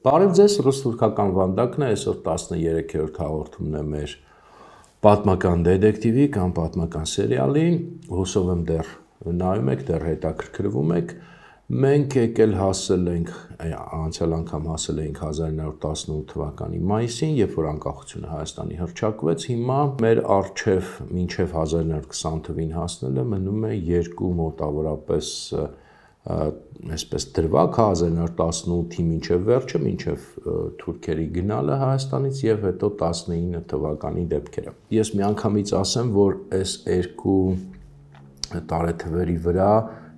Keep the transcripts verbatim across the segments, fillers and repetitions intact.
Բարև ձեզ, ռուս-թուրքական վանդակն է, այսօր տասներեքերորդ հաղորդումն է մեր պատմական դետեկտիվի կամ պատմական սերիալի, հուսով եմ դեռ նայում եք, դեռ հետաքրքրվում եք, մենք եկել հասել ենք, անցյալ անգամ հասել ենք հազար ինը հարյուր տասնութ թվականի մայիսին, երբ որ անկախությունը Հայաստանի հռչակվեց, հիմա մեր առջև մինչև հազար ինը հարյուր քսան թվին հասնելը մնում է երկու մոտավորապես այսպես դրվագ հազար ինը հարյուր տասնութի մինչև վերջը, մինչև թուրքերի գնալը Հայաստանից եւ հետո տասնինը թվականի դեպքերը։ Ես միանգամից ասեմ, որ այս երկու տարեթվերի վրա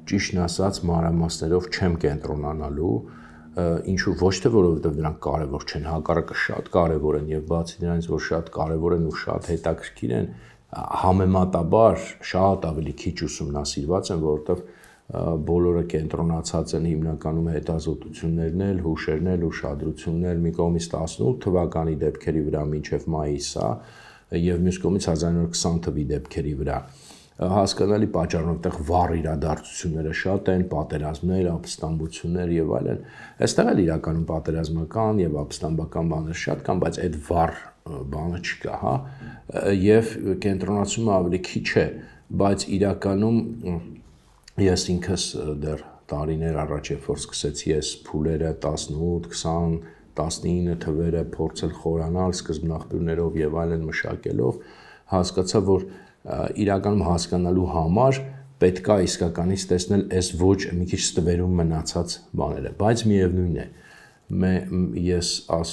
ճիշտն ասած մանրամասներով չեմ կենտրոնանալու, ինչու ոչ թե որովհետեւ դրանք կարեւոր չեն, հակառակը շատ կարեւոր են եւ բացի դրանից, որ շատ կարեւոր են ու շատ հետաքրքիր են, համեմատաբար շատ ավելի քիչ ուսումնասիրված են, որովհետեւ բոլորը կենտրոնացած են հիմնականում հետազոտություններն էլ, հուշերն էլ, ուշադրություններ մի կողմից տասնութ թվականի դեպքերի վրա մինչև մայիս, եւ մյուս կողմից հազար ինը հարյուր քսան թվի դեպքերի վրա։ Հասկանալի պատճառով այդտեղ վառ իրադարձությունները շատ են, պատերազմներ, ապստամբություններ եւ այլն։ Այստեղ էլ իրականում պատերազմական եւ ապստամբական բաներ շատ կան, բայց այդ վառ բանը չկա, հա, եւ կենտրոնացումը ավելի քիչ է, բայց իրականում ես ինքս դեռ տարիներ առաջ երբ որ սկսեցի ես փուլերը տասնութ, քսան, տասնինը թվերը փորձել խորանալ սկզբնաղբյուրներով եւ այլն մշակելով, հասկացա, որ իրականում հասկանալու համար պետք է իսկականից տեսնել այս ոչ մի քիչ ստվերում մնացած բաները, բայց միևնույն է, ես աս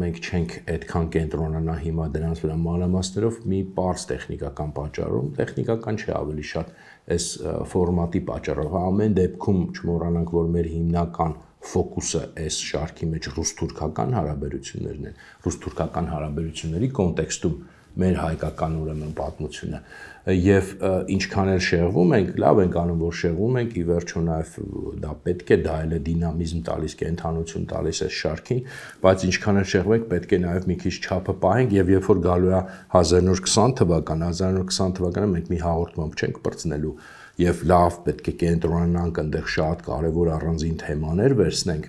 մենք չենք այդքան կենտրոնանա հիմա դրանց վրա մանրամասներով մի պարզ տեխնիկական պատճառով, տեխնիկական չէ ավելի շատ այս ֆորմատի պատճառով, ամեն դեպքում չմոռանանք, որ մեր հիմնական ֆոկուսը այս շարքի մեջ ռուս-թուրքական հարաբերություններն են, ռուս-թուրքական հարաբերությունների կոնտեքստում մեր հայկական ուրեմն պատմությունը եւ ինչքան էլ շեղվում ենք, լավ ենք անում, որ շեղվում ենք, ի վերջո նաեւ դա պետք է, դա էլ է դինամիզմ տալիս, կենթանություն տալիս այս շարքին, բայց ինչքան էլ շեղվենք, պետք է նաեւ մի քիչ չափը պահենք եւ երբ որ գալու է հազար ինը հարյուր քսան թվականը, հազար ինը հարյուր քսան թվականը մենք մի հաղորդմամբ չենք բրցնելու եւ լավ պետք է կենտրոնանանք այնտեղ շատ կարեւոր առանձին թեմաներ վերցնենք,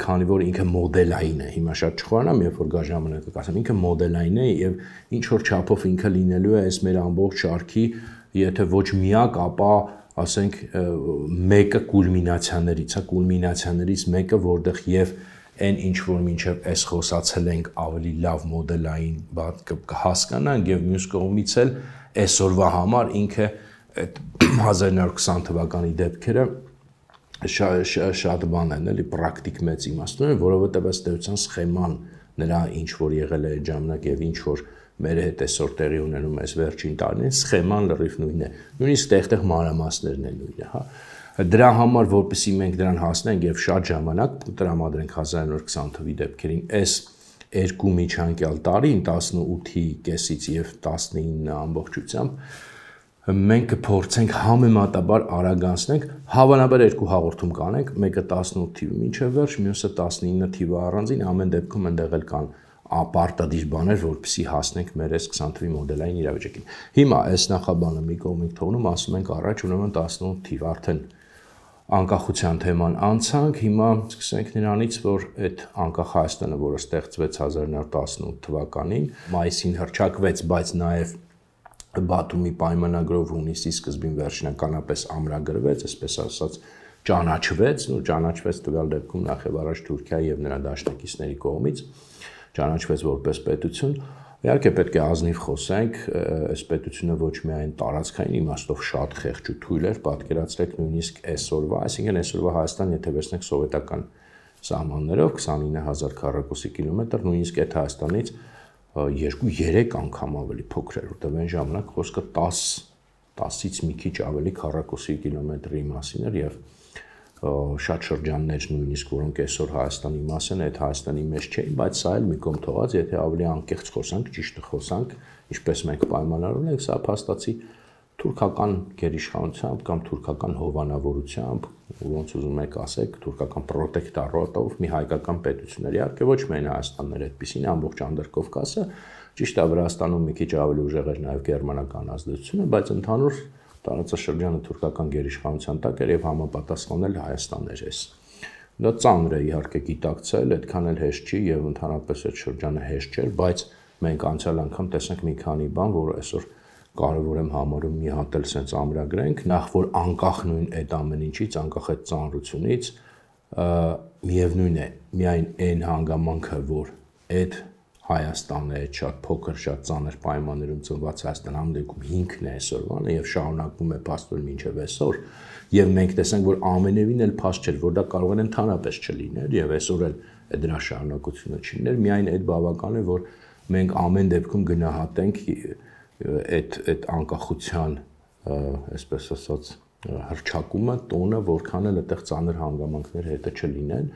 քանի որ ինքը մոդելային է, հիմա շատ չխորանամ, երբ որ գա ժամանակը կասեմ, ինքը մոդելային է եւ ինչ որ չափով ինքը լինելու է այս մեր ամբողջ շարքի, եթե ոչ միակ, ապա ասենք մեկը կուլմինացիաներից, հա, կուլմինացիաներից մեկը, որտեղ եւ այն ինչ որ մինչեւ այս խոսացել ենք ավելի լավ մոդելային բան կհասկանանք եւ մյուս կողմից էլ այսօրվա համար ինքը այդ հազար ինը հարյուր քսան թվականի դեպքերը շատ բան են, էլի պրակտիկ մեծ իմաստուն են, որովհետև ըստ էության սխեման նրա ինչ որ եղել է այդ ժամանակ եւ ինչ որ մեր հետ այսօր տեղի ունենում այս վերջին տարիներին, սխեման լրիվ նույնն է, նույնիսկ տեղ-տեղ մանրամասներն են նույնը, հա։ Դրա համար, որպեսզի մենք դրան հասնենք եւ շատ ժամանակ տրամադրենք հազար ինը հարյուր քսան թվի դեպքերին, այս երկու միջանկյալ տարին տասնութի կեսից եւ տասնինը ամբողջությամբ մենք կփորձենք համեմատաբար արագանցնենք, հավանաբար երկու հաղորդում կանենք, մեկը տասնութ թիվը մինչև վերջ, մյուսը տասնինը թիվը առանձին, ամեն դեպքում այնտեղ էլ կան ապարտադիր բաներ, որպեսզի հասնենք մեր այս քսան թվի մոդելային իրավիճակին։ Հիմա այս նախաբանը մի կողմից թողնում, ասում ենք առաջ ուրեմն տասնութ թիվ, արդեն անկախության թեման անցանք, հիմա սկսենք նրանից, որ այդ անկախ Հայաստանը, որը ստեղծվեց հազար ինը հարյուր տասնութ թվականին, մայիսին հռչակվեց, բայց նաև Բաթումի պայմանագրով հունիսի սկզբին վերջնականապես ամրագրվեց, այսպես ասած ճանաչվեց, ու ճանաչվեց տվյալ դեպքում նախ եւ առաջ Թուրքիայի եւ նրա դաշնակիցների կողմից, ճանաչվեց որպես պետություն։ Իհարկե պետք է ազնիվ խոսենք, այս պետությունը ոչ միայն տարածքային իմաստով շատ խեղճ ու թույլ էր, պատկերացրեք նույնիսկ այսօրվա, այսինքն այսօրվա Հայաստան, եթե վերցնենք սովետական սահմաններով քսանինը հազար քառակուսի կիլոմետր, նույնիսկ այդ Հայաստանից երկու երեք անգամ ավելի փոքր էր, որտեղ այն ժամանակ խոսքը տասից մի քիչ ավելի քառակուսի կիլոմետրի մասին էր եւ շատ շրջաններ նույնիսկ որոնք այսօր Հայաստանի մաս են, այդ Հայաստանի մեջ չէին, բայց սա էլ մի կողմ թողած, եթե ավելի անկեղծ խոսանք, ճիշտը խոսանք, ինչպես մենք պայմանավորել ենք, սա փաստացի թուրքական գերիշխանությամբ կամ թուրքական հովանավորությամբ, ոնց ուզում եք ասեք, թուրքական պրոտեկտորատով մի հայկական պետություն էր, իհարկե ոչ միայն Հայաստանն էր այդպիսին, ամբողջ Անդրկովկասը, ճիշտ է Վրաստանում մի քիչ ավելի ուժեղ էր նաև գերմանական ազդեցությունը, բայց ընդհանուր տարածաշրջանը թուրքական գերիշխանության տակ էր եւ համապատասխանել Հայաստանն էր այս Դա ծանր է իհարկե գիտակցել, այդքան էլ հեշտ չի եւ ընդհանրապես այդ շրջանը հեշտ չէր, բայց մենք անցյալ անգամ տեսանք մի քանի բան, որը այսօր կարևոր եմ համարում մի հատ էլ sense ամրագրենք, նախ որ անկախ նույն այդ ամեն ինչից, անկախ այդ ծանրությունից, միևնույն է, միայն այն հանգամանքը, որ այդ Հայաստանը այդ շատ փոքր, շատ ծանր պայմաններում ծնված Հայաստան ամենքում հիմքն է այսօրվանը եւ շարունակվում է փաստորեն մինչեւ այսօր եւ մենք տեսանք, որ ամենևին էլ փաստ չէր, որ դա կարող է ընդհանրապես չլիներ եւ այսօր էլ դրա շարունակությունը չլիներ, միայն այդ բավական է, որ մենք ամեն դեպքում գնահատենք այդ այդ անկախության, այսպես ասած, հրճակումը, տոնը, որքան էլ այդտեղ ծանր հանգամանքներ հետը չլինեն,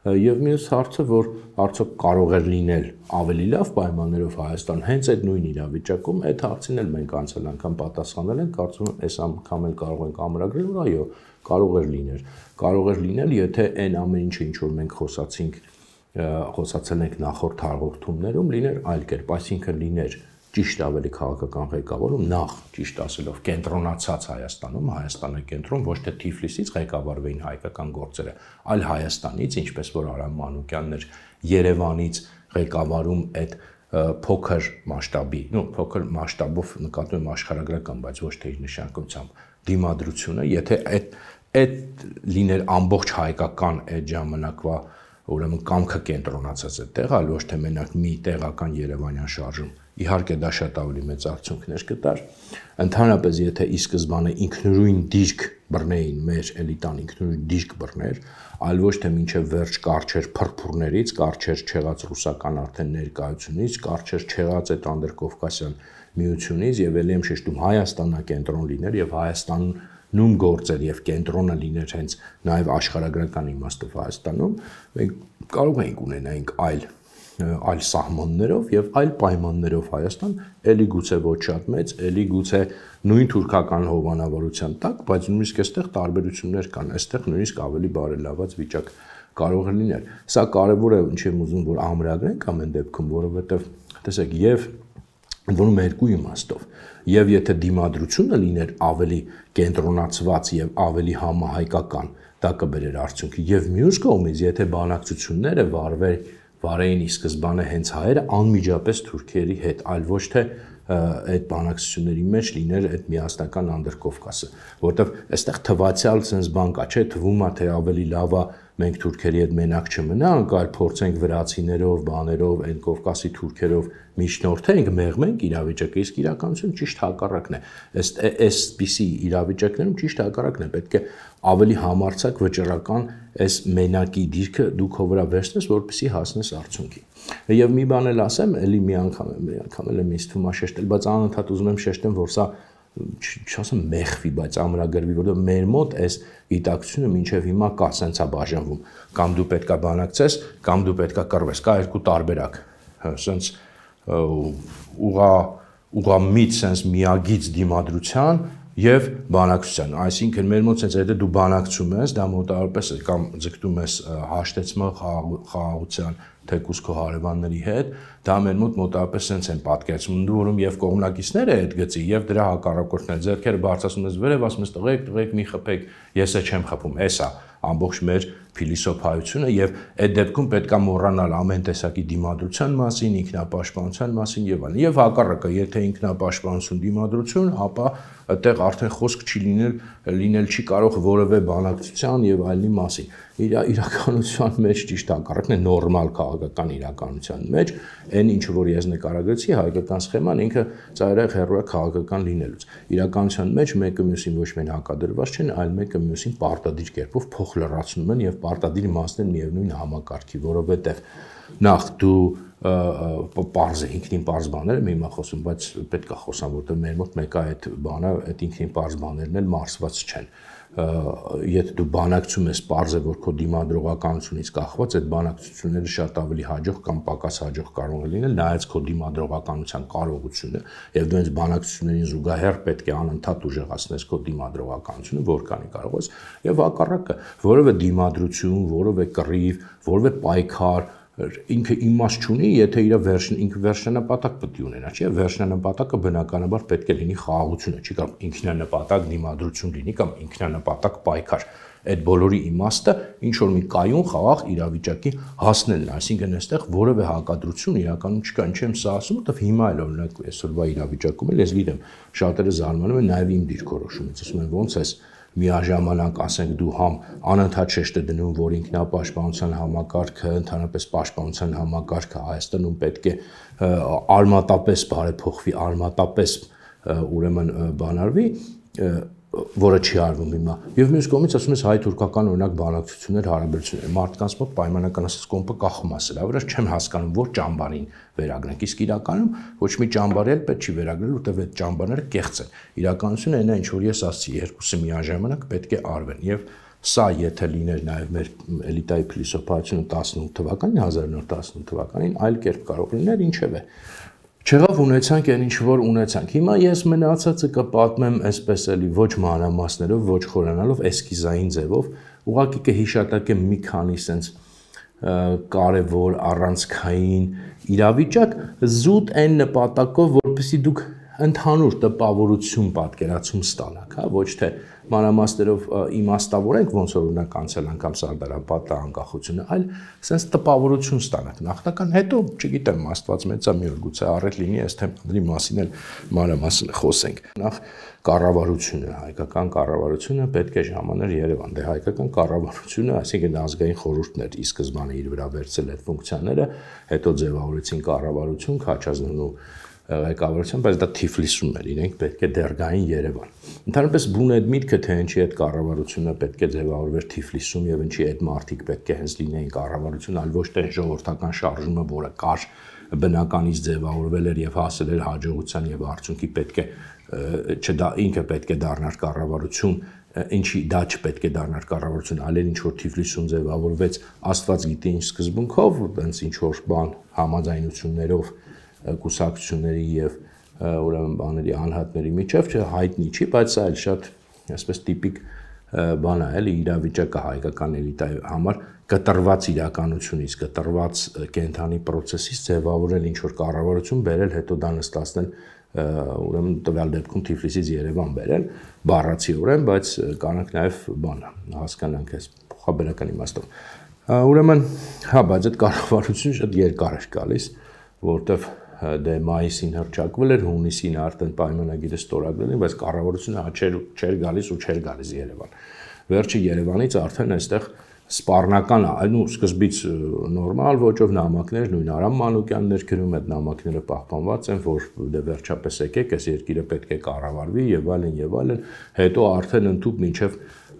եւ մյուս հարցը, որ արդյոք կարող էր լինել ավելի լավ պայմաններով Հայաստան հենց այդ նույն իրավիճակում, այդ հարցին էլ մենք անցյալ անգամ պատասխանել ենք, կարծում եմ այս անգամ էլ կարող ենք ամրագրել, որ այո, կարող էր լինել, կարող էր լինել, եթե այն ամեն ինչը, ինչ որ մենք խոսացինք, խոսացել ենք նախորդ հաղորդումներում, լիներ այլ կերպ, այսինքն լիներ ճիշտ ավելի քաղաքական ղեկավարում, նախ ճիշտ ասելով կենտրոնացած Հայաստանում, Հայաստանը կենտրոն, ոչ թե Թիֆլիսից ղեկավարվեին հայկական գործերը, այլ Հայաստանից, ինչպես որ Արամ Մանուկյանն էր Երևանից ղեկավարում այդ փոքր մասշտաբի, նո փոքր մասշտաբով նկատում եմ աշխարհագրական, բայց ոչ թե իր նշանակությամբ դիմադրությունը, եթե այդ այդ լիներ ամբողջ հայկական այդ ժամանակվա ուրեմն կամքը կենտրոնացած այդտեղ, այլ ոչ թե մենակ մի տեղական երևանյան շարժում, իհարկե դա շատ ավելի մեծ արդյունքներ կտար, ընդհանրապես եթե ի սկզբանե ինքնուրույն դիրք բռնեին մեր էլիտան ինքնուրույն դիրք բռներ, այլ ոչ թե մինչև վերջ կարճեր փրփուրներից, կարճեր չեղած ռուսական արդեն ներկայությունից, կարճեր չեղած այդ անդրկովկասյան միությունից եւ ելի եմ շեշտում Հայաստանա կենտրոն լիներ եւ Հայաստան նույն գործեր եւ կենտրոնը լիներ հենց նաեւ աշխարհագրական իմաստով Հայաստանում, մենք կարող ենք ունենայինք այլ այլ սահմաններով եւ այլ պայմաններով Հայաստան, ելի գուցե ոչ շատ մեծ, ելի գուցե նույն թուրքական հովանավորության տակ, բայց նույնիսկ այստեղ տարբերություններ կան, այստեղ նույնիսկ ավելի բարելաված վիճակ կարող է լինել։ Սա կարեւոր է, ինչ եմ ուզում, որ ամրագրենք ամեն դեպքում, որովհետեւ տեսեք, եւ որում երկու իմաստով, եւ եթե դիմադրությունը լիներ ավելի կենտրոնացված եւ ավելի համահայկական, դա կբերեր արդյունքի, եւ մյուս կողմից, եթե բանակցությունները վարվեր վարեին ի սկզբանե հենց հայերը անմիջապես թուրքերի հետ, այլ ոչ թե այդ բանակցությունների մեջ լիներ այդ միասնական անդրկովկասը, որտեվ այստեղ թվացial sense բան կա, չէ, թվում է թե ավելի լավ է մենք թուրքերի հետ մենակ չմնանք, այլ փորձենք վրացիներով, բաներով, այն Կովկասի թուրքերով միջնորդենք, մեղմենք իրավիճակը, իսկ իրականություն ճիշտ հակառակն է։ Ըստ այսպիսի իրավիճակներում ճիշտ հակառակն է, պետք է ավելի համարձակ վճռական այս մենակի դիրքը դուք հո վրա վերցնես, որպեսզի հասնես արդյունքի։ Եվ մի բան էլ ասեմ, էլի մի անգամ եմ, մի անգամ էլ եմ ինձ թվում է շեշտել, բայց անընդհատ ուզում եմ շեշտեմ, որ սա չասեմ մեղվի, բայց ամրագրվի, որովհետև մեր մոտ այս գիտակցությունը մինչև հիմա կա, սենց է բաժանվում, կամ դու պետքա բանակցես, կամ դու պետքա կռվես, կա երկու տարբերակ, սենց ուղա ուղամիտ սենց միագիծ դիմադրության եւ բանակցության, այսինքն մեր մոտ սենց եթե դու բանակցում ես, դա մոտավորապես կամ ձգտում ես հաշտեցման խաղաղության թեկուզ քո հարևանների հետ, դա մեր մոտ մոտավորապես սենց են պատկերացնում, որում եւ կողմնակիցները այդ գծի եւ դրա հակառակորդները ձեռքերը բարձրացնում ես վերև, ասում ես տղեկ, տղեկ մի խփեք, ես է չեմ խփում, էսա ամբողջ մեր փիլիսոփայությունը եւ այդ դեպքում պետքա մոռանալ ամեն տեսակի դիմադրության մասին, ինքնապաշտպանության մասին եւ այլն։ Եվ հակառակը, եթե ինքնապաշտպանություն դիմադրություն, ապա այդտեղ արդեն խոսք չի լինել, լինել չի կարող որևէ բանակցության եւ այլնի մասին։ Իր իրականության մեջ ճիշտ հակառակն է նորմալ քաղաքական իրականության մեջ, այն ինչ որ ես նկարագրեցի, հայկական սխեման ինքը ծայրահեղ հեռու է քաղաքական լինելուց։ Իրականության մեջ մեկը մյուսին ոչ միայն հակադրված չեն, այլ մեկը մյուսին պարտադիր կերպով փոխ լրացնում են եւ պարտադիր իմաստն միևնույն համակարգի, որովհետեւ նախ դու պարզ է, ինքնին պարզ բաներ եմ հիմա խոսում, բայց պետք է խոսամ, որտեղ մեր մոտ մեկը այդ բանը, այդ ինքնին պարզ բաներն էլ մարսված չեն։ Եթե դու բանակցում ես, պարզ է, որ քո դիմադրողականությունից կախված այդ բանակցությունները շատ ավելի հաջող կամ պակաս հաջող կարող է լինել, նայած քո դիմադրողականության կարողությունը, եւ դու այս բանակցություններին զուգահեռ պետք է անընդհատ ուժեղացնես քո դիմադրողականությունը, որքանի կարող ես, եւ հակառակը, որովե դիմադրություն, որովե կռիվ, որովե պայքար ինքը իմաստ չունի, եթե իր վերջն ինքը վերջնանպատակ պետք է ունենա, չէ՞, վերջնանպատակը բնականաբար պետք է լինի խաղաղությունը, չի կարող ինքնանպատակ դիմադրություն լինի կամ ինքնանպատակ պայքար։ Այդ բոլորի իմաստը ինչ որ մի կայուն խաղաղ իրավիճակի հասնելն է, այսինքն այստեղ որևէ հակադրություն իրականում չկա, ինչ եմ սա ասում, որովհետև հիմա էլ օրինակ այսօրվա իրավիճակում էլ ես գիտեմ, շատերը զարմանում են նաև իմ դիրքորոշումից, ասում են ոնց էս միաժամանակ ասենք դու համ անընդհատ շեշտը դնում, որ ինքնապաշտպանության համակարգը, ընդհանրապես պաշտպանության համակարգը Հայաստանում պետք է արմատապես բարեփոխվի, արմատապես ուրեմն բանարվի, որը չի արվում հիմա։ Եվ մյուս կողմից ասում ես հայ-թուրքական օրինակ բանակցություններ, հարաբերություններ, մարդկանց մոտ պայմանական ասած կոմպը կախում է սրա վրա, չեմ հասկանում, որ ճամբարին վերագրենք, իսկ իրականում ոչ մի ճամբար էլ պետք չի վերագրել, որտեղ այդ ճամբարները կեղծ են։ Իրականությունը այն է, ինչ որ ես ասացի, երկուսը միաժամանակ պետք է արվեն եւ սա եթե լիներ նաև մեր էլիտայի փիլիսոփայությունը տասնութ թվականին, հազար նոր տասնութ թվականին, այլ կերպ կարող լիներ, ինչևէ։ Չեղավ ունեցանք այն ինչ որ ունեցանք։ Հիմա ես մնացածը կպատմեմ այսպես էլի ոչ մանրամասներով, ոչ խորանալով, էսկիզային ձևով, ուղղակի կհիշատակեմ մի քանի sense կարևոր առանցքային իրավիճակ զուտ այն նպատակով, որպեսզի դուք ընդհանուր տպավորություն պատկերացում ստանաք, հա, ոչ թե մանրամասներով իմաստավորենք ոնց որ օրինակ անցել անգամ Սարդարապետը անկախությունը, այլ sense տպավորություն ստանաք նախնական, հետո չգիտեմ Աստված մեծա մի օր գուցե առել լինի այս թեմաների մասին էլ մանրամասն խոսենք։ Նախ կառավարությունը, հայկական կառավարությունը պետք է ժամաներ Երևան, դե հայկական կառավարությունը, այսինքն ազգային խորհուրդն էր ի սկզբանե իր վրա վերցել այդ ֆունկցիաները, հետո ձևավորեցին կառավարություն, Քաչազնու ղեկավարությամբ, բայց դա Թիֆլիսում էր, իրենք պետք է դեռ գային Երևան։ Ընդհանրապես բուն այդ միտքը, թե ինչի այդ կառավարությունը պետք է ձևավորվեր Թիֆլիսում եւ ինչի այդ մարդիկ պետք է հենց լինեին կառավարություն, այլ ոչ թե ժողովրդական շարժումը, որը կար բնականից ձևավորվել էր եւ հասել էր հաջողության եւ արդյունքի պետք է չդա ինքը պետք է դառնար կառավարություն, ինչի դա չպետք է դառնար կառավարություն, այլ ինչ որ Թիֆլիսում ձևավորվեց, Աստված գիտի ինչ սկզբունքով, այնց ինչ որ բան համաձայնություններով կուսակցությունների եւ ուրեմն բաների անհատների միջև հայտնի չի, բայց սա էլ շատ այսպես տիպիկ բան է, էլի իրավիճակը հայկական էլիտայի համար կտրված իրականությունից, կտրված կենթանի process-ից ձևավորել ինչ որ կառավարություն բերել, հետո դա նստացնել ուրեմն տվյալ դեպքում Թիֆլիսից Երևան բերել, բառացիորեն, բայց կանանք նաեւ բան հասկանանք այս փոխաբերական իմաստով։ Ուրեմն, հա, բայց այդ կառավարությունը շատ երկար էր գալիս, որտեվ դե մայիսին հռչակվել էր, հունիսին արդեն պայմանագիրը ստորագրել են, բայց կառավարությունը չէր չէր գալիս ու չէր գալիս Երևան։ Վերջը Երևանից արդեն այստեղ սպառնական, այլ ու սկզբից նորմալ ոճով նամակներ, նույն Արամ Մանուկյանն էր գրում, այդ նամակները պահպանված են, որ դե վերջապես եկեք, այս երկիրը պետք է կառավարվի եւ այլն եւ այլն, հետո արդեն ընդཐུպ մինչեւ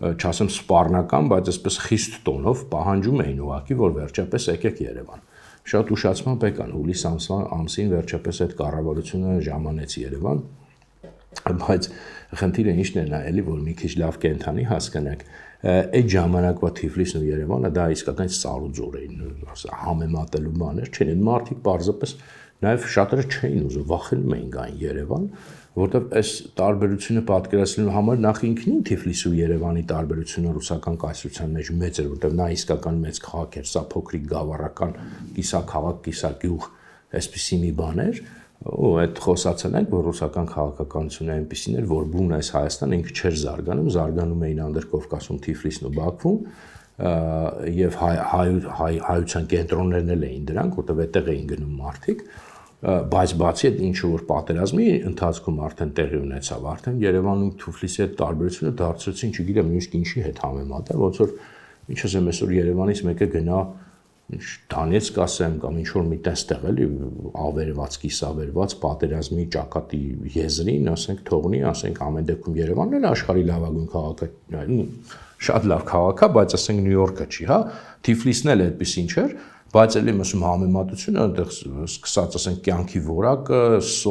չասեմ սպառնական, բայց այսպես խիստ տոնով պահանջում էին ուղակի, որ վերջապես եկեք Երևան։ Շատ ուշացման եկան հուլիս ամսին վերջապես այդ կառավարությունը ժամանեց Երևան, բայց խնդիրը ինչն է նա էլի որ մի քիչ լավ կենթանի հասկանանք, այդ ժամանակվա Թիֆլիսն ու Երևանը դա իսկական սարուձոր էին, համեմատելու բաներ չեն, այդ մարդիկ պարզապես նաև շատերը չէին ուզում, վախենում էին գային Երևան, որտեղ այս տարբերությունը պատկերացնելու համար նախ ինքնին Թիֆլիսի ու Երևանի տարբերությունը ռուսական կայսրության մեջ մեծ էր, որտեղ նա իսկական մեծ քաղաք էր, սա փոքրիկ գավառական կիսաքաղաք, կիսագյուղ, այսպիսի մի բան էր, ու այդ խոսացել ենք, որ ռուսական քաղաքականությունը այնպիսին էր, որ բուն այս Հայաստանը ինքը չէր զարգանում, զարգանում էին Անդրկովկասում, Թիֆլիսն ու Բաքվում, եւ հայության կենտրոններն էլ էին դրանք, որտեղ այդտեղ էին գնում մարդիկ, բայց բացի այդ ինչ որ պատերազմի ընթացքում արդեն տեղի ունեցավ, արդեն Երևանում Թիֆլիսի հետ տարբերությունը դարձրեցին, չգիտեմ, նույնիսկ ինչի հետ համեմատել, ոնց որ ինչ ասեմ, այսօր Երևանից մեկը գնա Դանեցկ ասեմ կամ ինչ որ մի տեղ էլի ավերված, կիսավերված պատերազմի ճակատի եզրին, ասենք թողնի, ասենք ամեն դեպքում Երևանն էլ աշխարհի լավագույն քաղաքը, շատ լավ քաղաք է, բայց ասենք Նյու Յորքը չի, հա, Թիֆլիսն էլ այդպես ինչ էր, բայց էլի ասում համեմատությունը այնտեղ սկսած ասենք կյանքի որակը,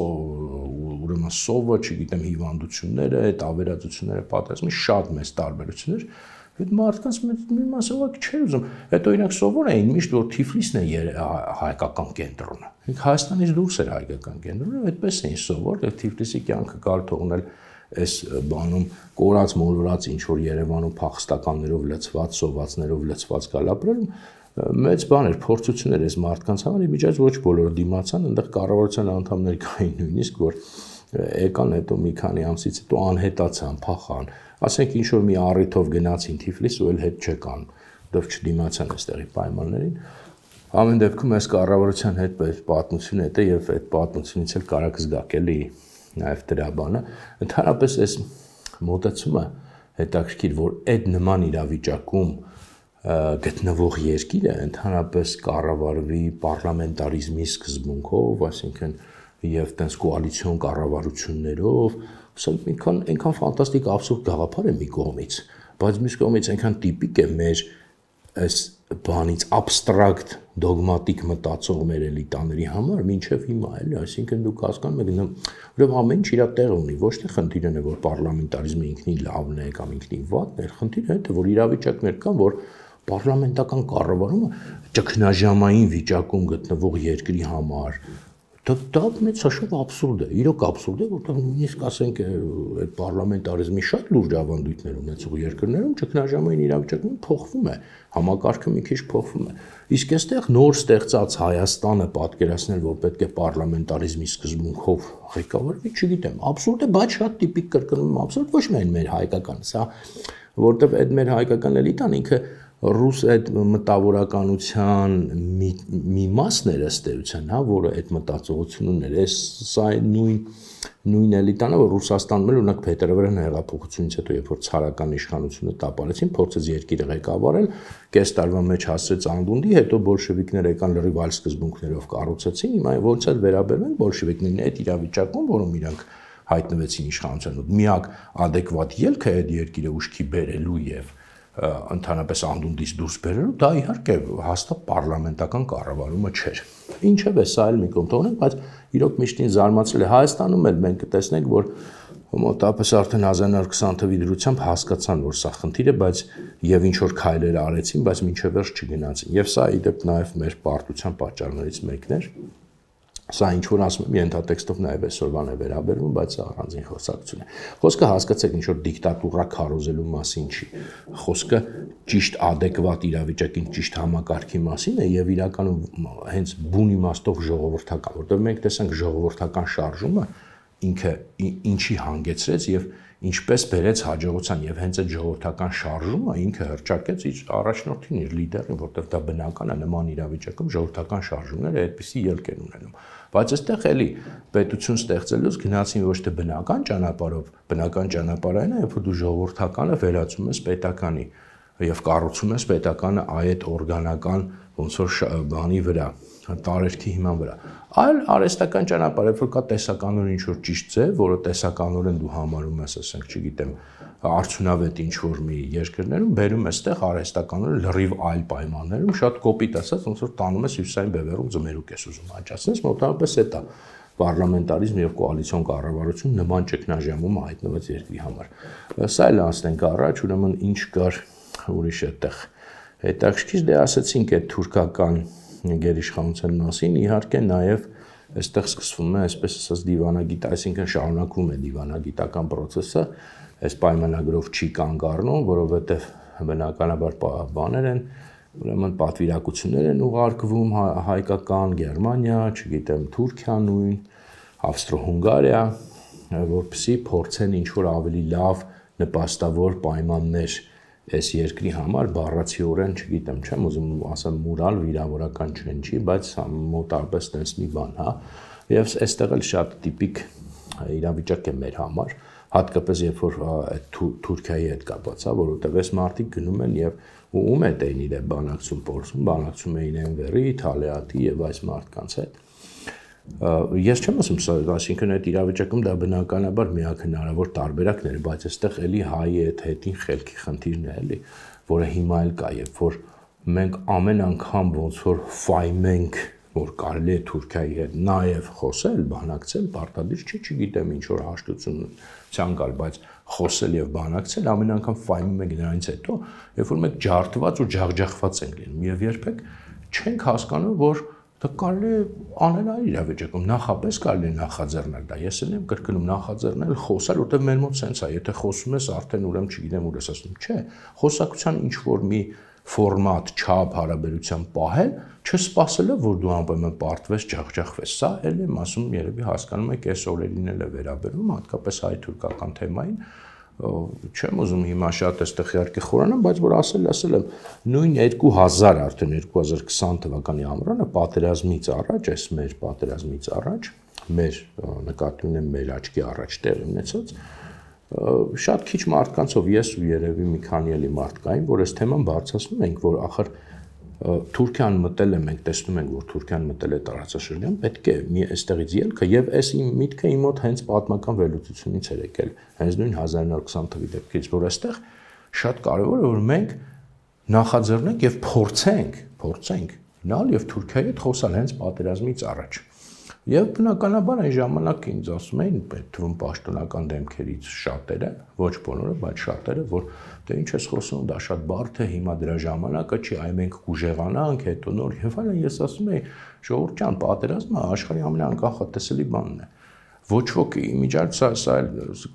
ուրեմն սովը, չգիտեմ, հիվանդությունները, այդ ավերածությունները, պատերազմի շատ մեծ տարբերություններ Այդ մարդկանց մի մասը ուղղակի չէր ուզում։ Հետո իրենք սովոր էին միշտ որ Թիֆլիսն է հայկական կենտրոնը։ Ինք Հայաստանից դուրս էր հայկական կենտրոնը, այդպես էին սովոր, եւ Թիֆլիսի կյանքը կար թողնել այս բանում կորած մոլորած ինչ որ Երևանում փախստականներով լցված, սովածներով լցված գալապրել մեծ բան էր, փորձություն էր այս մարդկանց համար, ի միջից ոչ բոլորը դիմացան, այնտեղ կառավարության անդամներ կային նույնիսկ որ եկան հետո մի քանի ամսից հետո անհետացան, փախան, ասենք ինչ որ մի առիթով գնացին Թիֆլիս ու էլ հետ չեկան, որովհետև չդիմացան այստեղի պայմաններին։ Ամեն դեպքում այս կառավարության հետ պատմություն է եւ այդ պատմությունից էլ կարա զգաք էլի նաեւ դրա բանը։ Ընդհանրապես այս մոտեցումը հետաքրքիր, որ այդ նման իրավիճակում գտնվող երկիրը ընդհանրապես կառավարվի պարլամենտարիզմի սկզբունքով, այսինքն եւ տես կոալիցիոն կառավարություններով, ասենք ինքան այնքան ֆանտաստիկ абսուրդ գաղափար է մի կողմից, բայց մյուս կողմից այնքան տիպիկ է մեր այս բանից abstract դոգմատիկ մտածող մեր էլիտաների համար մինչև հիմա էլի, այսինքն դուք հասկանում եք, ուրեմն ամեն ինչ իր տեղը ունի, ոչ թե խնդիրն է, որ պարլամենտարիզմը ինքնին լավն է կամ ինքնին վատն է, խնդիրը դա որ իրավիճակներ կան, որ պարլամենտական կառավարումը ճգնաժամային վիճակում գտնվող երկրի համար դա դա մեծ հաշվով абսուրդ է, իրոք абսուրդ է, որտեղ նույնիսկ ասենք այդ պարլամենտարիզմի շատ լուրջ ավանդույթներ ունեցող երկրներում ճգնաժամային իրավիճակում փոխվում է, համակարգը մի քիչ փոխվում է։ Իսկ այստեղ նոր ստեղծած Հայաստանը պատկերացնել, որ պետք է պարլամենտարիզմի սկզբունքով ղեկավարվի, չգիտեմ, абսուրդ է, բայց շատ տիպիկ կրկնում абսուրդ, ոչ միայն մեր հայկական, սա որտեղ այդ մեր հայկական էլիտան ինքը ռուս այդ մտավորականության մի, մի մասն էր ըստ էության, հա, որը այդ մտածողությունն ուներ, այս սա նույն նույն էլիտանը, որ Ռուսաստանում էլ օրինակ Փետրվարյան հեղափոխությունից հետո, երբ որ ցարական իշխանությունը տապալեցին, փորձեց երկիրը ղեկավարել, կես տարվա մեջ հասցրեց անդունդի, հետո բոլշևիկները եկան լրիվ այլ սկզբունքներով կառուցեցին, հիմա ոնց էլ վերաբերվեն բոլշևիկներին այդ իրավիճակում, որում իրանք հայտնվեցին իշխանության, միակ adekvat ելքը այդ երկիրը ուշքի բերելու եւ ընդհանրապես անդունդից դուրս բերելու, դա իհարկե հաստատ պարլամենտական կառավարումը չէր։ Ինչև է սա էլ մի կողմ թողնենք, բայց իրոք միշտին զարմացել է Հայաստանում էլ մենք կտեսնենք, որ մոտավորապես արդեն հազար նոր քսան թվականի դրությամբ հասկացան, որ սա խնդիր է, բայց եւ ինչ որ քայլեր արեցին, բայց մինչև վերջ չգնացին։ Եվ սա իդեպ նաեւ մեր պարտության պատճառներից մեկն էր։ Սա ինչ որ ասում եմ, ենթատեքստով նաև այսօրվան է վերաբերվում, բայց առանձին խոսակցություն է։ Խոսքը հասկացեք, ինչ որ դիկտատուրա քարոզելու մասին չի։ Խոսքը ճիշտ adekvat իրավիճակին, ճիշտ համակարգի մասին է եւ իրականում հենց բուն իմաստով ժողովրդական, որտեղ մենք տեսանք ժողովրդական շարժումը ինքը ինչի հանգեցրեց եւ ինչպես բերեց հաջողության եւ հենց այդ ժողովրդական շարժումը ինքը հրճակեց իր առաջնորդին, իր լիդերին, որտեղ դա բնական է նման իրավիճակում ժողովրդական շարժումները այդպիսի ելք են ունենում։ Բայց այստեղ էլի պետություն ստեղծելուց գնացին ոչ թե բնական ճանապարհով, բնական ճանապարհը այն է, երբ որ դու ժողովրդականը վերածում ես պետականի եւ կառուցում ես պետականը այդ օրգանական ոնց որ բանի վրա, տարերքի հիման վրա։ Այլ արհեստական ճանապարհ, երբ որ կա տեսականորեն ինչ որ ճիշտ ձև, որը տեսականորեն դու համարում ես, ասենք, չգիտեմ, արդյունավետ ինչ որ մի երկրներում, բերում ես տեղ արհեստականորեն լրիվ այլ պայմաններում, շատ կոպիտ ասած, ոնց որ տանում ես հյուսիսային բևեռում ձմերուկ ես ուզում աճացնես, մոտավորապես էդ է պարլամենտարիզմ եւ կոալիցիոն կառավարություն նման ճգնաժամում հայտնված երկրի համար։ Սա էլ անցնենք առաջ, ուրեմն ինչ կար ուրիշ այդտեղ։ Հետաքրքիր դե ասացինք այդ թուրքական գերիշխանության մասին, իհարկե նաև այստեղ սկսվում է այսպես ասած դիվանագիտ, այսինքն շարունակվում է դիվանագիտական process-ը, այս պայմանագրով չի կանգ առնում, որովհետև բնականաբար բաներ են, ուրեմն պատվիրակություններ են ուղարկվում հայկական, Գերմանիա, չգիտեմ, Թուրքիա նույն, Ավստրո-Հունգարիա, որպեսզի փորձեն ինչ որ ավելի լավ նպաստավոր պայմաններ այս երկրի համար բառացիորեն, չգիտեմ, չեմ ուզում ասեմ մուրալ վիրավորական չեն չի, բայց մոտավորապես տես մի բան, հա, եւ այստեղ էլ շատ տիպիկ իրավիճակ է մեր համար, հատկապես երբ որ Թուրքիայի հետ կապված է, որովհետեւ այս մարդիկ գնում են եւ ում է դեն իրեն բանակցում փորձում, բանակցում էին Էնվերի, Թալեատի եւ այս մարդկանց հետ։ Ես չեմ ասում սա, այսինքն այդ իրավիճակում դա բնականաբար միակ հնարավոր տարբերակն էր, բայց այստեղ էլի հայի այդ հետին խելքի խնդիրն է էլի, որը հիմա էլ կա, երբ որ մենք ամեն անգամ ոնց որ ֆայմենք, որ կարելի է Թուրքիայի հետ նաև խոսել, բանակցել, պարտադիր չի, չգիտեմ ինչ որ հաշտություն ցանկալ, բայց խոսել եւ բանակցել ամեն անգամ ֆայմում ենք նրանից հետո, երբ որ մենք ջարդված ու ջախջախված ենք լինում եւ երբեք չենք հասկանում, որ դա կարելի է անել այլ իրավիճակում, նախապես կարելի է նախաձեռնել դա։ Ես էլ եմ կրկնում նախաձեռնել, խոսալ, որտեղ մեր մոտ սենց է, եթե խոսում ես, արդեն ուրեմն չգիտեմ ուր ես ասում, չէ, խոսակցության ինչ որ մի ֆորմատ, չափ, հարաբերության պահել, չսպասելով, որ դու անպայման պարտվես, ջախջախվես։ Սա էլ եմ ասում, երևի հասկանում եք, այս օրերին էլ է վերաբերում, հատկապես հայ-թուրքական թեմային։ Չեմ ուզում հիմա շատ այստեղ իհարկե խորանամ, բայց որ ասել, ասել եմ, նույն երկու հազար արդեն երկու հազար քսան թվականի ամռանը պատերազմից առաջ, այս մեր պատերազմից առաջ, մեր նկատի ունեմ մեր աչքի առաջ տեղի ունեցած, շատ քիչ մարդկանցով ես ու երևի մի քանի էլի մարդ կային, որ այս թեման բարձրացնում ենք, որ ախր Թուրքիան մտել է, մենք տեսնում ենք, որ Թուրքիան մտել է տարածաշրջան, պետք է մի այստեղից ելքը եւ այս իմ միտքը իմ մոտ հենց պատմական վերլուծությունից էր եկել, հենց նույն հազար նոր քսան թվականի դեպքից, որ այստեղ շատ կարևոր է, որ մենք նախաձեռնենք եւ փորձենք, փորձենք գնալ եւ Թուրքիայի հետ խոսալ հենց պատերազմից առաջ։ Եվ բնականաբար այն ժամանակ ինձ ասում էին, թվում պաշտոնական դեմքերից շատերը, ոչ բոլորը, բայց շատերը, որ դե ինչ ես խոսում, դա շատ բարդ է, հիմա դրա ժամանակը չի, այ մենք կուժեղանանք, հետո նոր եւ այլն, ես ասում եի, ժողովուրդ ջան, պատերազմը աշխարհի ամենաանկանխատեսելի բանն է։ Ոչ ոք իմիջիայլ սա սա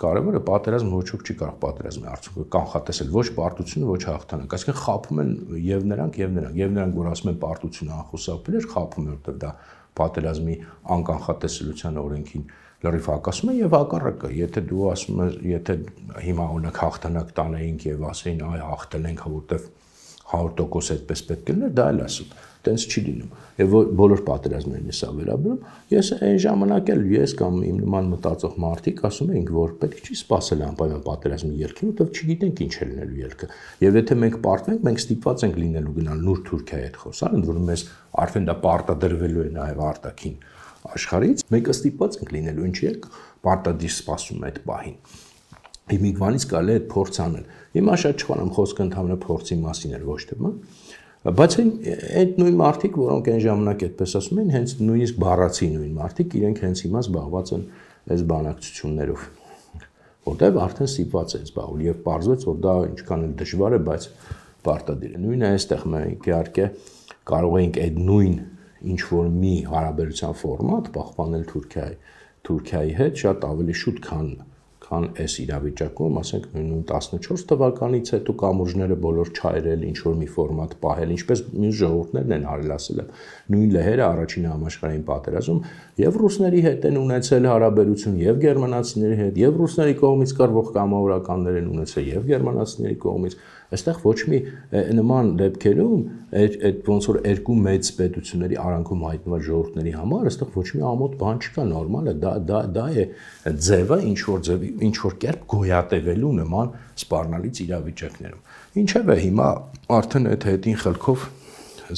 կարևոր է, պատերազմ ոչ ոք չի կարող պատերազմի արդյունքը կանխատեսել, ոչ պարտությունը, ոչ հաղթանակ, այսինքն խաբում են եւ նրանք եւ նրանք, եւ նրանք, որ ասում են պարտությունը անխուսափելի է, խաբում են, որտեղ դա պատերազմի անկանխատեսելիության օրենքին լրիվ հակասում է եւ հակառակը, եթե դու ասում ես, եթե հիմա օրինակ հաղթանակ տանեինք եւ ասեին, այ հաղթել ենք, որտեղ հարյուր տոկոս այդպես պետք է լիներ, դա էլ ասում, տենց չի լինում։ Եվ բոլոր պատերազմներին է սա վերաբերում, ես այն ժամանակ էլ ես կամ իմ նման մտածող մարդիկ ասում էինք, որ պետք չի սпасել անպայման պատերազմի ելքին, որտեղ չգիտենք ինչ է լինելու ելքը։ Եվ եթե մենք պարտվենք, մենք ստիպված ենք լինելու գնալ նոր Թուրքիայի հետ խոսալ, ընդ որում մեզ արդեն դա պարտադրվելու է նաև արտաքին աշխարհից, մենք ստիպված ենք լինելու, ինչի է պարտադիր սպասում այդ պահին։ Հիմիկվանից կարելի է այդ փորձ անել։ Հիմա շատ չխանամ խոսքը ընդհանրապես փորձի մասին էր, ոչ թե բան։ Բայց այդ նույն մարդիկ, որոնք այն ժամանակ այդպես ասում են, հենց նույնիսկ բառացի նույն մարդիկ, իրենք հենց հիմա զբաղված են այս բանակցություններով, որտեղ արդեն ստիպված են զբաղվել եւ պարզվեց, որ դա ինչքան էլ դժվար է, բայց պարտադիր է։ Նույնը այստեղ մենք իհարկե կարող ենք այդ նույն ինչ որ մի հարաբերության ֆորմատ պահպանել Թուրքիայի Թուրքիայի հետ շատ ավելի շուտ, քան քան այս իրավիճակում, ասենք նույն տասնչորս թվականից հետո կամուրջները բոլոր չայրել, ինչ որ մի ֆորմատ պահել, ինչպես մյուս ժողովուրդներն են արել, ասել եմ, նույն լեհերը առաջին համաշխարհային պատերազմում եւ ռուսների հետ են ունեցել հարաբերություն, եւ գերմանացիների հետ, եւ ռուսների կողմից կարվող կամավորականներ են ունեցել, եւ գերմանացիների կողմից։ Այստեղ ոչ մի նման դեպքերում այդ ոնց որ երկու մեծ պետությունների արանքում հայտնված ժողովուրդների համար այստեղ ոչ մի ամոթ բան չկա, նորմալ է, դա դա դա է ձևը ինչ որ ձևի ինչ որ կերպ գոյատևելու նման սպառնալից իրավիճակներում։ Ինչևէ հիմա արդեն այդ հետին խելքով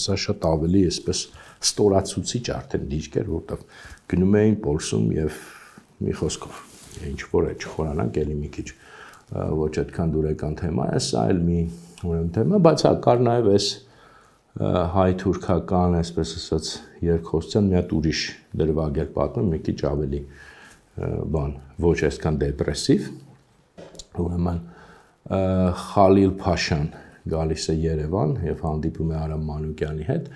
սա շատ ավելի այսպես ստորացուցիչ արդեն դիրք էր, որտեղ գնում էին Պոլսում եւ մի խոսքով ինչ որ է չխորանանք էլի մի քիչ ոչ այդքան դուրեկան թեմա է, սա էլ մի ուրեմն թեմա, բայց հա կար նաև այս հայ-թուրքական, այսպես ասած, երկխոսության մի հատ ուրիշ դրվագ էր պատմում, մի քիչ ավելի բան, ոչ այսքան դեպրեսիվ, ուրեմն Խալիլ Փաշան գալիս է Երևան եւ հանդիպում է Արամ Մանուկյանի հետ,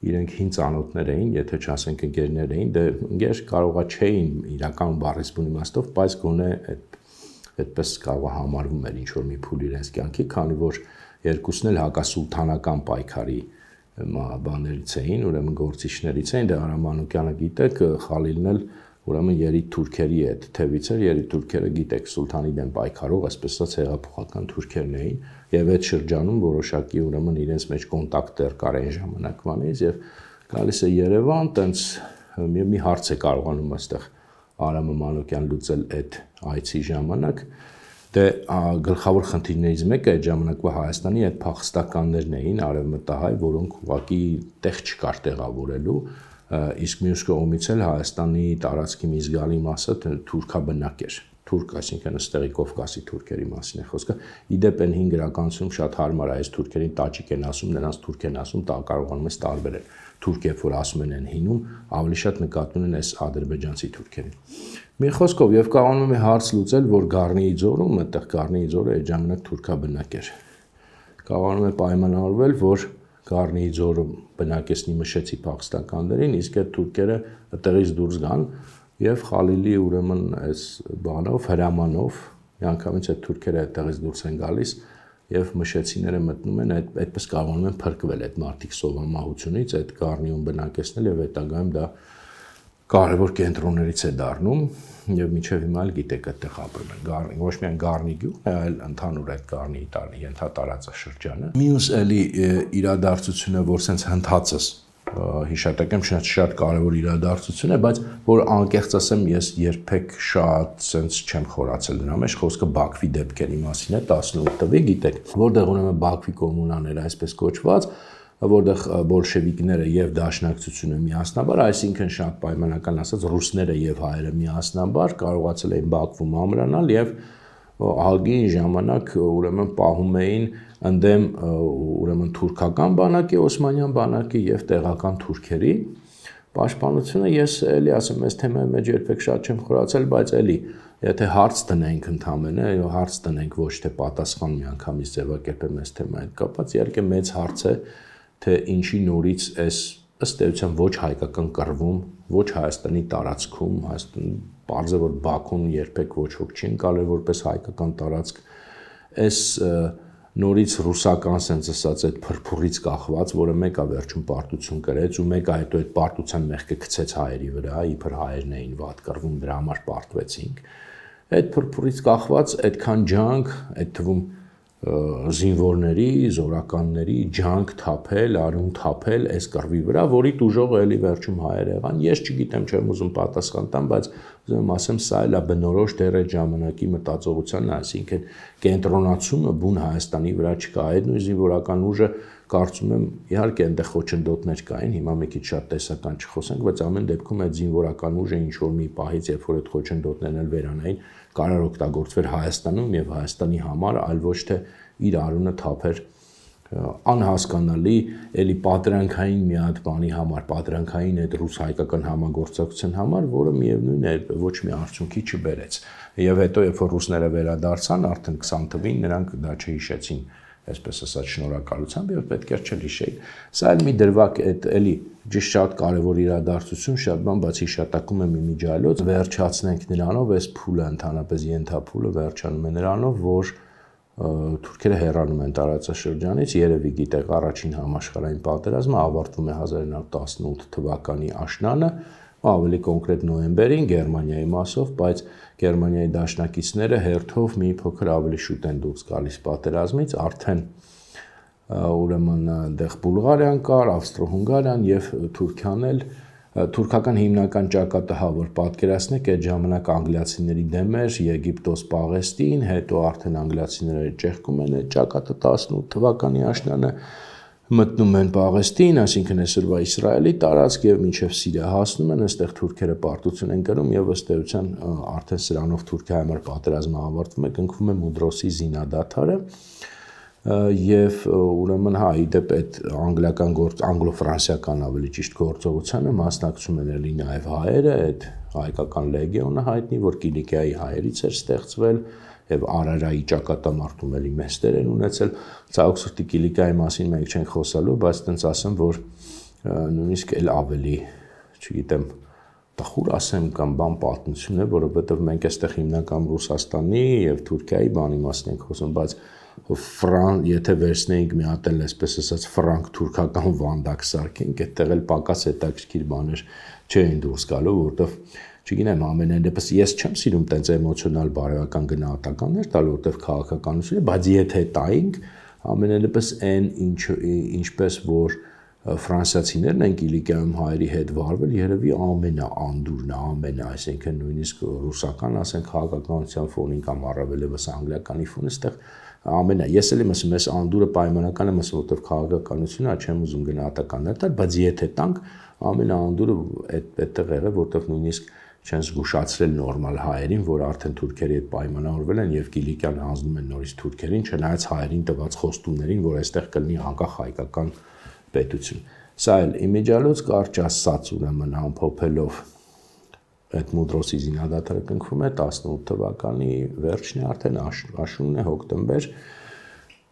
իրենք հին ծանոթներ էին, եթե չասենք ընկերներ էին, դե ընկեր կարողա չէին իրական բառից բուն իմաստով, բայց գոնե այդ այդպես կարող համարվում էր ինչ որ մի փուլ իրենց կյանքի, քանի որ երկուսն էլ հակասուլթանական պայքարի բաներից էին, ուրեմն գործիչներից էին, դե Արամ Մանուկյանը գիտեք, Խալիլն էլ ուրեմն երիտ թուրքերի հետ թևից էր, երիտ թուրքերը գիտեք, սուլթանի դեմ պայքարող, այսպես ասած հեղափոխական թուրքերն էին, եւ այդ շրջանում որոշակի ուրեմն իրենց մեջ կոնտակտներ կար այն ժամանակվանից եւ գալիս է Երևան, տենց մի, մի հարց է կարողանում այստեղ Արամը Մանուկյան լուծել այդ այցի ժամանակ, դե գլխավոր խնդիրներից մեկը այդ ժամանակվա Հայաստանի այդ փախստականներն էին, արևմտահայ, որոնք ուղղակի տեղ չկար տեղավորելու, իսկ մյուս կողմից էլ Հայաստանի տարածքի մի զգալի մասը թուրքաբնակ էր, թուրք, այսինքն ըստեղի Կովկասի թուրքերի մասին է խոսքը, իդեպ են հին գրականությունում շատ հարմար է, այս թուրքերին տաջիկ են ասում, նրանց թուրք են ասում, դա կարողանում ես տարբերել, թուրք երբ որ ասում են են հինում, ավելի շատ նկատում են այս ադրբեջանցի թուրքերին։ Մի խոսքով եւ կարողանում է հարց լուծել, որ Գառնիի ձորում, այդտեղ Գառնիի ձորը այդ ժամանակ թուրքաբնակ էր։ Կարողանում է պայմանավորվել, որ Գառնիի ձորը բնակեցնի մշեցի փախստականներին, իսկ այդ թուրքերը այդտեղից դուրս գան եւ Խալիլի ուրեմն այս բանով հրամանով միանգամից այդ թուրքերը այդտեղից դուրս են գալիս եւ մշեցիները մտնում են այդ այդպես կարողանում են փրկվել այդ մարդիկ սովամահությունից, այդ Գառնիում բնակեցնել եւ հետագայում դա կարևոր կենտրոններից է դառնում եւ մինչեւ հիմա էլ գիտեք այդտեղ ապրում են Գառնի, ոչ միայն Գառնի գյուղն է, այլ ընդհանուր այդ Գառնիի տարի ենթատարածաշրջանը։ Մյուս էլի իրադարձությունը, որ սենց հնդածս հիշատակեմ շատ շատ կարևոր իրադարձություն է, բայց որ անկեղծ ասեմ, ես երբեք շատ սենց չեմ խորացել դրա մեջ, խոսքը Բաքվի դեպքերի մասին է տասնութ թվի, գիտեք, որտեղ ուրեմն Բաքվի կոմունաները այսպես կոչված, որտեղ բոլշևիկները եւ դաշնակցությունը միասնաբար, այսինքն շատ պայմանական ասած ռուսները եւ հայերը միասնաբար կարողացել էին Բաքվում ամրանալ եւ ալգի ժամանակ ուրեմն պահում էին ընդդեմ ուրեմն թուրքական բանակի, օսմանյան բանակի եւ տեղական թուրքերի պաշտպանությունը։ Ես էլի ասեմ, այս թեմայի մեջ երբեք շատ չեմ խորացել, բայց էլի եթե հարց տնենք ընդամենը, հարց տնենք ոչ թե պատասխան միանգամից ձևակերպեմ այս թեմայի հետ կապված, իհարկե մեծ հարց է, թե ինչի նորից այս ըստ էության ոչ հայկական կռվում, ոչ Հայաստանի տարածքում, Հայաստան պարզ է որ Բաքուն երբեք ոչ ոք չի ընկալել որպես հայկական տարածք, այս նորից ռուսական sense ասած այդ փրփուրից կախված, որը մեկը վերջում պարտություն կրեց ու մեկը հետո այդ պարտության մեղքը գցեց հայերի վրա, իբր հայերն էին վատ կռվում, դրա համար պարտվեցինք։ Այդ փրփուրից կախված այդքան ջանք, այդ թվում զինվորների, զորականների ջանք թափել, արյուն թափել այս կռվի վրա, որի տուժողը էլի վերջում հայեր եղան։ Ես չգիտեմ, չեմ ուզում պատասխան տամ, բայց ուզում ասեմ, սա էլ է բնորոշ դեռ այդ ժամանակի մտածողությանն, այսինքն կենտրոնացումը բուն Հայաստանի վրա չկա։ Այդ նույն զինվորական ուժը կարծում եմ, իհարկե այնտեղ խոչընդոտներ կային, հիմա մի քիչ շատ տեսական չխոսենք, բայց ամեն դեպքում այդ զինվորական ուժը ինչ որ մի պահից, երբ որ այդ խոչընդոտներն էլ վերանային, կարող օգտագործվեր Հայաստանում եւ Հայաստանի համար, այլ ոչ թե իր արունը թափեր անհասկանալի էլի պատրանքային մի հատ բանի համար, պատրանքային այդ ռուս-հայկական համագործակցության համար, որը միևնույն է ոչ մի արդյունքի չբերեց։ Եվ հետո երբ որ ռուսները վերադարձան, արդեն քսան թվին նրանք դա չհիշեցին, այսպես ասած շնորհակալությամբ եւ պետք է չհիշեին։ Սա էլ մի դրվագ այդ էլի ճիշտ շատ կարևոր իրադարձություն, շատ բան, բայց հիշատակում եմ իմիջիայլոց, վերջացնենք նրանով, այս փուլը ընդհանրապես ենթափուլը վերջանում է նրանով, որ թուրքերը հեռանում են տարածաշրջանից, երևի գիտեք, առաջին համաշխարհային պատերազմը ավարտվում է հազար իննսուն տասնութ թվականի աշնանը, ավելի կոնկրետ նոյեմբերին Գերմանիայի մասով, բայց Գերմանիայի դաշնակիցները հերթով մի փոքր ավելի շուտ են դուրս գալիս պատերազմից, արդեն ուրեմն դեղ Բուլղարիան կար, Ավստրո-Հունգարիան եւ Թուրքիան էլ թուրքական հիմնական ճակատը հա որ պատկերացնեք այդ ժամանակ անգլիացիների դեմ էր Եգիպտոս Պաղեստին, հետո արդեն անգլիացիները ճեղքում են այդ ճակատը տասնութ թվականի աշնանը մտնում են Պաղեստին, այսինքն այսօրվա Իսրայելի տարածք եւ մինչեւ Սիրիա հասնում են, այստեղ թուրքերը պարտություն են կրում եւ ըստ էության արդեն սրանով Թուրքիայի համար պատերազմը ավարտվում է, կնքվում է Մուդրոսի զինադադարը եւ ուրեմն հա իդեպ այդ անգլիական գործ անգլո-ֆրանսիական ավելի ճիշտ գործողությանը մասնակցում են էլի նաեւ հայերը, այդ հայկական լեգիոնը հայտնի, որ Կիլիկիայի հայերից էր ստեղծվել եւ Արարայի ճակատամարտում էլի մեծ դեր են ունեցել։ Ցավոք սրտի Կիլիկիայի մասին մենք չենք խոսալու, բայց տենց ասեմ, որ նույնիսկ էլ ավելի, չգիտեմ, տխուր ասեմ կամ բան պատմություն է, որովհետեւ մենք այստեղ հիմնական Ռուսաստանի եւ Թուրքիայի բանի մասին ենք խոսում, բայց Ֆրան, եթե վերցնեինք մի հատ էլ այսպես ասած ֆրանկ-թուրքական վանդակ սարքենք, այդտեղ էլ պակաս հետաքրքիր բաներ չէին դուրս գալու, որովհետեւ չգիտեմ, ամենայն դեպս ես չեմ սիրում տենց էմոցիոնալ բարոյական գնահատականներ տալ, որովհետեւ քաղաքականություն է, բայց եթե տայինք, ամենայն դեպս այն ինչ ինչպես որ ֆրանսիացիներն են Կիլիկիայում հայերի հետ վարվել, երևի ամենաանդուրն է, ամենը, այսինքն նույնիսկ ռուսական, ասենք, քաղաքականության ֆոնին կամ առավելևս անգլիականի ֆոնը, այստեղ ամենա, ես էլ եմ ասում, այս անդուրը պայմանական եմ ասում, որովհետև քաղաքականությունը չեմ ուզում գնահատականներ տալ, բայց եթե տանք ամենաանդուրը այդտեղ եղել, որովհետև նույնիսկ չեն զգուշացրել նորմալ հայերին, որ արդեն թուրքերի հետ պայմանավորվել են եւ Կիլիկիան հանձնում են նորից թուրքերին, չնայած հայերին տված խոստումներին, որ այստեղ կլինի անկախ հայկական պետություն։ Սա էլ իմիջիալոց կարճ ասած ուրեմն ամփոփելով այդ Մուդրոսի զինադադարը կնքվում է տասնութ թվականի վերջն է, արդեն աշունն է, հոկտեմբեր,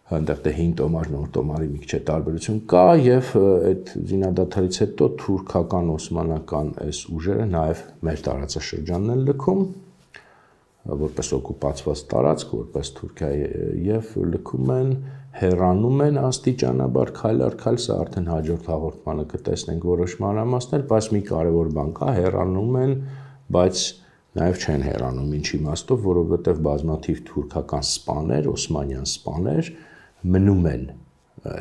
այնտեղ դե հինգ տոմար, նոր տոմարի մի քիչ տարբերություն կա եւ այդ զինադադարից հետո թուրքական օսմանական այս ուժերը նաեւ մեր տարածաշրջանն են լքում որպես օկուպացված տարածք, որպես Թուրքիա եւ լքում են, հեռանում են աստիճանաբար քայլ առ քայլ, սա արդեն հաջորդ հաղորդմանը կտեսնենք որոշ մանրամասներ, բայց մի կարևոր բան կա, հեռանում են, բայց նաեւ չեն հեռանում, ինչ իմաստով, որովհետեւ բազմաթիվ թուրքական սպաներ, օսմանյան սպաներ մնում են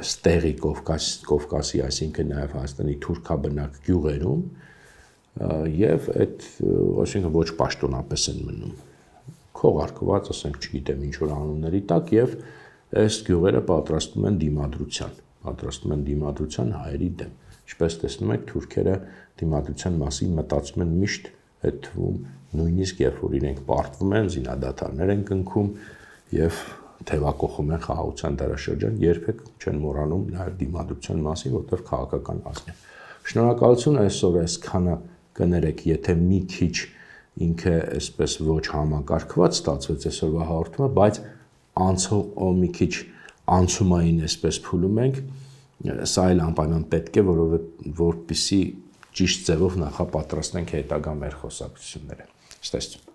ստեղի Կովկաս, Կովկասի, այսինքն նաեւ Հայաստանի թուրքաբնակ գյուղերում եւ այդ, այսինքն ոչ պաշտոնապես են մնում քողարկված, ասենք, չգիտեմ ինչ որ անունների տակ եւ այս գյուղերը պատրաստում են դիմադրության, պատրաստում են դիմադրության հայերի դեմ։ Ինչպես տեսնում եք, թուրքերը դիմադրության մասին մտածում են միշտ, այդ թվում նույնիսկ երբ որ իրենք պարտվում են, զինադադարներ են կնքում եւ թևակողում են խաղաղության դարաշրջան, երբեք չեն մոռանում նաեւ դիմադրության մասին, որտեղ քաղաքական ազգ է։ Շնորհակալություն այսօր այսքանը կներեք, եթե մի քիչ ինքը այսպես ոչ համակարգված ստացվեց այսօրվա հաղորդումը, բայց անցող մի քիչ անցումային այսպես փուլում ենք, սա էլ անպայման պետք է, որովհետեւ որպեսզի ճիշտ ձևով նախապատրաստենք հետագա մեր խոսակցությունները։ Ստեսություն։